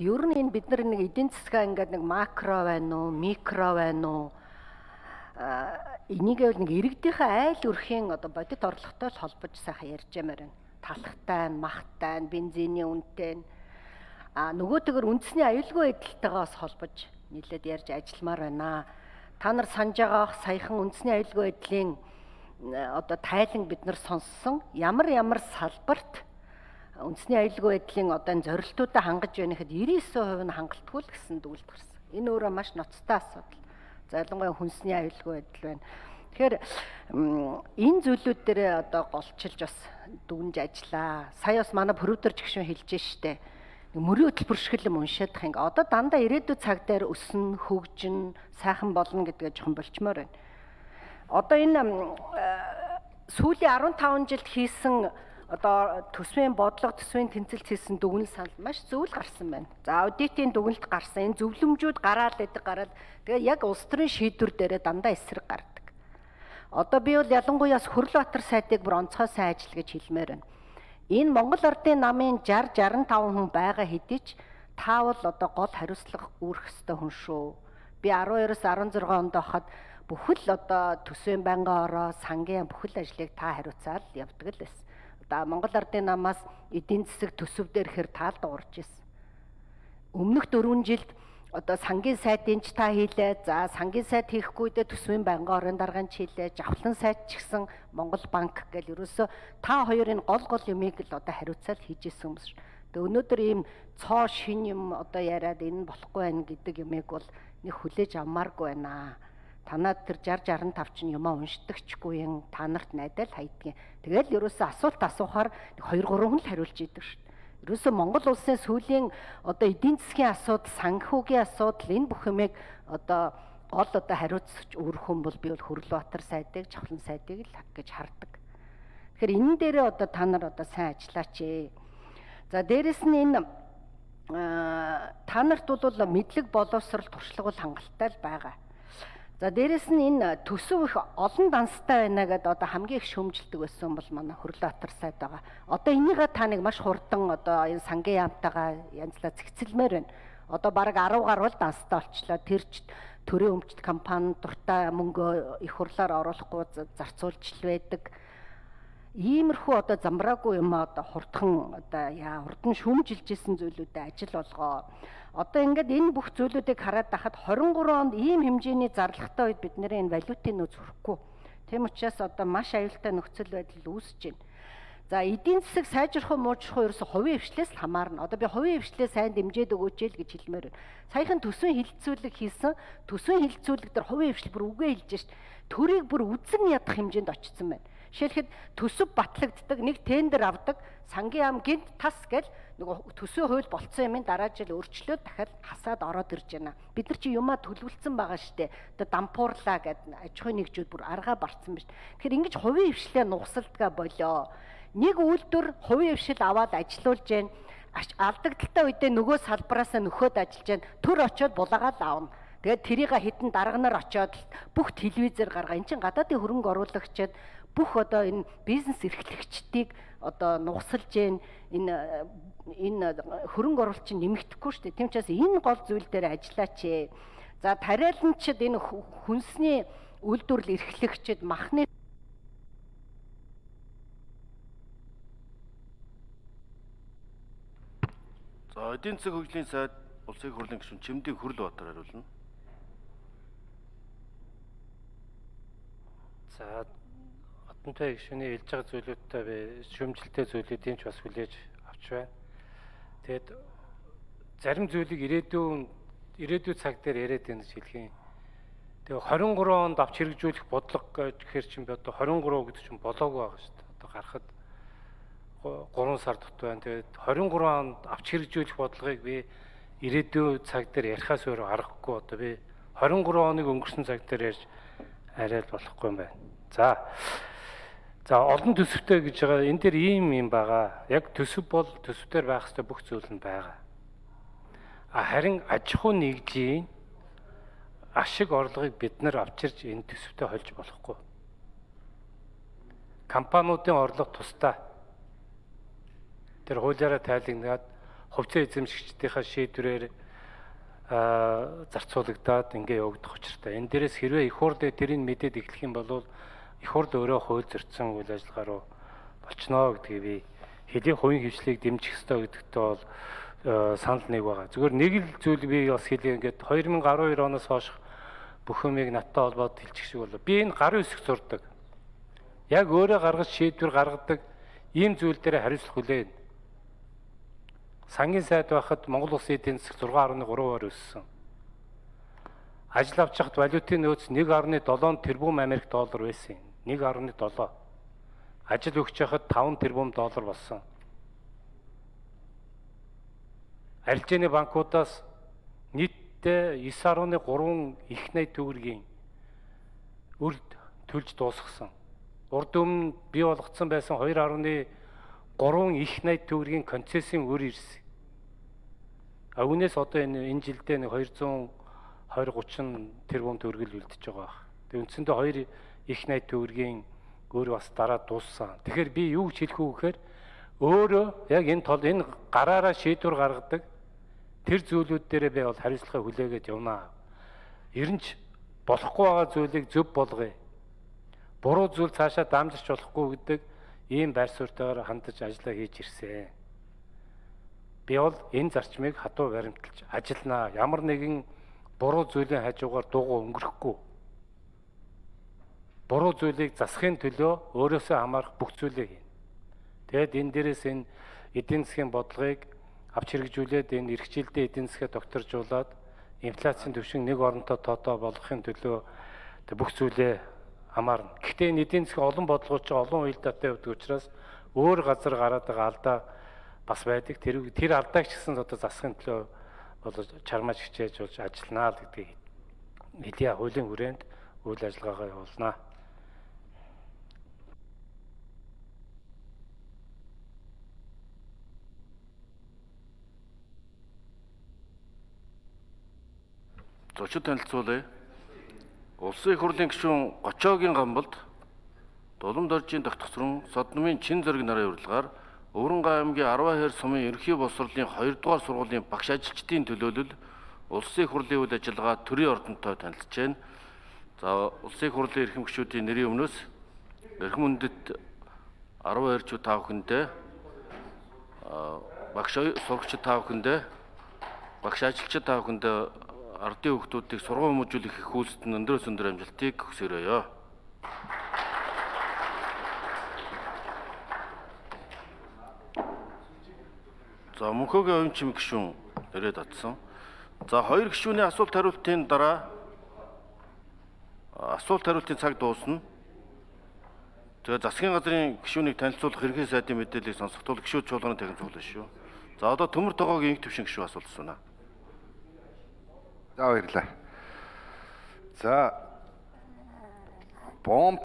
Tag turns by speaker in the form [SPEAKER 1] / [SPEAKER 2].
[SPEAKER 1] Ер нь энэ бид нар нэг эдийн засгаа ингээд нэг макро байна уу, микро байна уу? Энийг нэг иргэдийнхээ айл өрхийн одоо бодит орлоготой л холбож сайхан ярьж ямаар байна. Талхтай, махтай, бензиний үнэтэй. Нөгөөтэйгөр үндэсний аюулгүй байдалтайгаас холбож нийлээд ярьж ажилламаар байна. Та нар санаж байгаа саяхан үндэсний аюулгүй байдлын одоо тайлан бид нар сонссон ямар салбарт үндэсний аюулгүй байдлын одоо зорилтуудаа хангаж байна гэхэд 99% нь хангалтгүй л гэсэн дүгнэлт гарсан. Энэ өөрөө маш ноцтой асуудал. За ялангуяа хүнсний аюулгүй байдал байна. Тэгэхээр энэ зүйлүүд дээр одоо голчилж бас дүгнж ажиллаа. Сая бас манай продюсер гişүн хэлж штэ. Мөрийн хөтөлбөр шиг юм уншаадах ингээ. Одоо дандаа ирээдүйн цаг дээр өснө, хөгжин, сайхан болно гэдгээ жоохон болчмоор байна. Одоо энэ сүүлийн 15 жилд хийсэн одоо төсвийн бодлого, төсвийн тэнцэлд хийсэн дүгнэлт санал маш зөв л гарсан байна. За аудитын дүгнэлт гарсан. Энэ зөвлөмжүүд гараад тэгээ яг улс төрийн шийдвэр дээрээ дандаа эсрэг гардаг. Одоо би бол ялангуяа Хөрлөбаатар сайтыг бүр онцгой сайн ажил гэж хэлмээр байна. Энэ Монгол Ардын намын 60-65 хүн байгаа хэдий ч та бол одоо гол хариуцлага үүрэх ёстой хүн шүү. Би 12-оос 16 онд байхад бүхэл одоо төсвийн байнгын ороо, сангийн бүхэл ажлыг та хариуцаад явдаг л байсан. Одоо Монгол Ардын намаас эдийн засаг төсөв дээр хэр таал дуурж ирсэн. Өмнөх 4 жилд одоо сангийн сайтын ч та хийлээ. За сангийн сайт хийхгүйдээ төсвийн байнгын орон даргаан ч хийлээ. Жавхлан сайт ч гэсэн Монгол банк гэл ерөөсөө та хоёрын гол юмыг л одоо хариуцаад хийж исэн юм шиг. Тэгээ өнөөдөр ийм цоо шин юм одоо яриад энэ болохгүй байх гэдэг юмыг бол нэг хүлээж авмааргүй байна. Танаад тэр 60-65 чинь юмаа уншдагчгүй юм. Та нарт найдаа л хайдгийн. Тэгэл ерөөсөө асуулт асуухаар 2-3 хүн л хариулж идэг шүү дээ. Ерөөсөө Монгол улсын сүүлийн одоо эдийн засгийн асуудал, санхүүгийн асуудал энэ бүх юмыг одоо гол одоо хариуцж өрөх хүн бол би бол Хөрлөбаатар сайдыг, Жавхлан сайдыг л гэж хардаг. Тэгэхээр энэ дээрээ одоо та нар одоо сайн ажиллаач ээ. За дээрэс нь энэ та нарт бол мэдлэг боловсрол туршлага бол хангалттай л байгаа. За дээрэс нь энэ төсөв их олон данстай байна гэдээ одоо хамгийн их шөмжилдэг байсан бол манай Хөрлөбаатар сайд байгаа. Одоо энийгээ та нэг маш хурдан одоо энэ сангийн яамтайгаа янзлаа зэгцэлмээр байна. Одоо бараг 10 гаруй данстай болчлоо. Тэр ч төрийн өмчт компани дуртай мөнгө их хурлаар оруулахгүй зарцуулж л байдаг. Иймэрхүү одоо замбраагүй юм одоо хурдхан одоо хурдан шүмжилжсэн зүйлүүдэд ажил болгоо. Одоо ингээд энэ бүх зүйлүүдийг хараад байхад 23 онд ийм хэмжээний зарлагтай үед бид нарын энэ валютын нөөц хүрэхгүй. Тийм учраас одоо маш аюултай нөхцөл байдал үүсэж байна. За эдийн засаг сайжрах уу муужрах уу ерөөсө хувийн хвшлээс л хамаарна. Одоо би хувийн хвшлээ сайн дэмжиж өгөөч л гэж хэлмээр байна. Саяхан төсвийн хилцүүлэг хийсэн. Төсвийн хилцүүлэг дээр хувийн хвшил бүр үгээ хэлж шít. Төрийг бүр үзэн ядах хэмжээнд очсон байна. Жишээлхэд төсөв батлагддаг, нэг тендер авдаг, сангийн яам гинт тас гэл нөгөө төсвийн хууль болцсон юмын дараа жил өөрчлөөд дахиад хасаад ороод ирж байна. Бид нар чи юмаа төлөвлөсөн байгаа штэ. Одоо дампуурлаа гэдэг аж ахуйн нэгжүүд бүр аргаа барцсан байна. Тэгэхээр ингэж хувийн хвшлээ нугсалдгаа болоо. Нэг үйлдвэр хувийн хвшил аваад ажилуулж гэн алдагдaltaй үедээ нөгөө салбараасаа нөхөд ажиллаж гэн төр очиод булаагаад аавна. Тэгээд тэрийг хитэн дарганаар очиод бүх телевизээр гаргаа. Энд чин гадаадын хөрөнгө оруулагчид бүх одоо энэ бизнес эрхлэгчдийг одоо нугсалж гэн энэ хөрөнгө оруулалтын нэмэгдэхгүй шүү дээ. Тийм учраас энэ гол зүйл дээр ажиллаач ээ. За тариаланчид энэ хүнсний үйлдвэрлэл эрхлэгчид махны
[SPEAKER 2] За эдийн засаг хөгжлийн сайд улсын хурлын гишүүн Чимдийн Хөрлөбаатар хариулна.
[SPEAKER 3] За одонтой гишүүний хэлж байгаа зүйлүүдтэй би шүүмжлэлтэй зүйлүүдийн ч бас хүлээж авч байна. Тэгэд зарим зүйлийг ирээдүйн цаг дээр яриад байна гэж хэлхийн. Тэгээ 23 онд авч хэрэгжүүлэх бодлого гэхээр чинь би одоо 23 гэдэг чинь болоогүй байгаа шүү дээ. Одоо гарахад 3 сар дот байна. Тэгээд 23 онд авч хэрэгжүүлэх бодлогыг би ирээдүйн цаг дээр ярихаас өөр аргагүй. Одоо би 23 оныг өнгөрсөн цаг дээр ярьж арай л болохгүй юм байна. За олон төсөвтэй гэж байгаа энэ дээр ийм байгаа. Яг төсөв бол төсвээр байх ёстой бүх зүйл нь байгаа. Харин аж ахуй нэгжийн ашиг орлогыг бид нар авчирч энэ төсөвтэй холж болохгүй. Компаниудын орлого тусдаа тэр хуулиараа тайлгнаад хувьцаа эзэмшигчдийнхаа шийдвэрээр зарцуулагдаад ингээ явагдах учиртай. Энэ дээрээс хэрвээ их хурлыг тэрийг мэдээд эхлэх юм бол их хурл өөрөө хууль зөрчсөн үйл ажиллагаа руу болчихно гэдгийг би хэдийн хувийн хвшлийг дэмжих ёстой гэдэгтээ бол санал нэг байгаа. Зүгээр нэг л зүйл би бас хэлээ ингээд 2012 оноос хойш бүх юмыг надтай холбоод хэлчих шиг болоо. Би энэ гарын үсэг зурдаг. Яг өөрөө гаргаж шийдвэр гаргадаг ийм зүйл дээр хариуцлах хүлээн. Сангийн сайд байхад Монгол Улсын эдийн засаг 6.3%-аар өссөн. Ажил авч хахад валютын нөөц 1.7 тэрбум Америк доллар байсан. 1.7. Ажил өгч хахад 5 тэрбум доллар болсон. Арилжааны банкудаас нийтдээ 9.3 их найт төгрөгийн үр төлж дуусгасан. Урд өмнө бий болгоцсон байсан 2.3 их найт төгрөгийн концессийн үр ирсэн. Үүнээс одоо энэ жилдээ нэг 220-30 тэрбум төгрөгөл үлдчихэж байгаа баг. Тэгээ үндсэндээ 2 их найт төгрөгийн өөр бас дараа дууссан. Тэгэхээр би юу гэж хэлэх үү гэхээр өөрөө яг энэ гараараа шийдвэр гаргадаг тэр зүйлүүд дээрээ би бол хариуцлагаа хүлээгээд явнаа. Ер нь ч болохгүй байгаа зүйлийг зөв болгоё. Буруу зүйл цаашаа дамжирч болохгүй гэдэг ийм байр суурьтайгаар хандаж ажиллаа хийж ирсэн. Би бол энэ зарчмыг хатуу баримталж ажилланаа. Ямар нэгэн буруу зүйлийн хажуугаар дуугаа өнгөрөхгүй. Буруу зүйлийг засахын төлөө өөрөөсөө хамаарах бүх зүйлийг хийнэ. Тэгэд энэ дээрээс энэ эдийн засгийн бодлогыг авч хэрэгжүүлээд энэ эрх жилдээ эдийн засгаа докторжуулаад инфляцийн түвшин нэг оронтой тоотой болгохын төлөө бүх зүйлээ хамаарна. Гэхдээ энэ эдийн засгийн олон бодлогоч олон уялдаатай байдаг учраас өөр газар гараад байгаа алдаа бас байдаг. Тэр алдааг ч гэсэн одоо засахын төлөө бол чармааж хичээж болж ажилланаа л гэдгийг хэлье. Хуулийн хүрээнд үйл ажиллагаагаа явуулнаа.
[SPEAKER 2] Зочид танилцуулъя. Улсын их хурлын гишүүн Гочоогийн гамбалд Дулам доржийн тогтцорон Содномын чин зэрэг нарын урилгаар Өвөрнгай аймгийн 10 хайр сумын ерөнхий боловсролын 2 дугаар сургуулийн багш ажилчдын төлөөлөл улсын их хурлын үйл ажиллагаа төрийн ордонтой танилцж байна. За улсын их хурлын эрхэм гишүүдийн нэрийн өмнөөс эрхэм үндэт 10 хайрчууд та бүхэндээ багш сурагчид та бүхэндээ багш ажилчид та бүхэндээ ардын хүүхдүүдийг сургууль хүмүүжүүлэх их үйлсэд нь өндрөөс өндөр амжилтыг хүсээрэй. За мөнхөгийн оюун чим гишүүн ирээд атсан. За хоёр гишүүний асуулт хариултын дараа асуулт хариултын цаг дуусна. Тэгээ засгийн газрын гишүүнийг танилцуулах ерөнхий сайдын мэдээллийг сонсохдоо гишүүд чуулганы танхим цуглана шүү. За одоо Төмөр тогоогийн инх төвшин гишүү асуулт асууна.
[SPEAKER 4] За баярлалаа. За бомб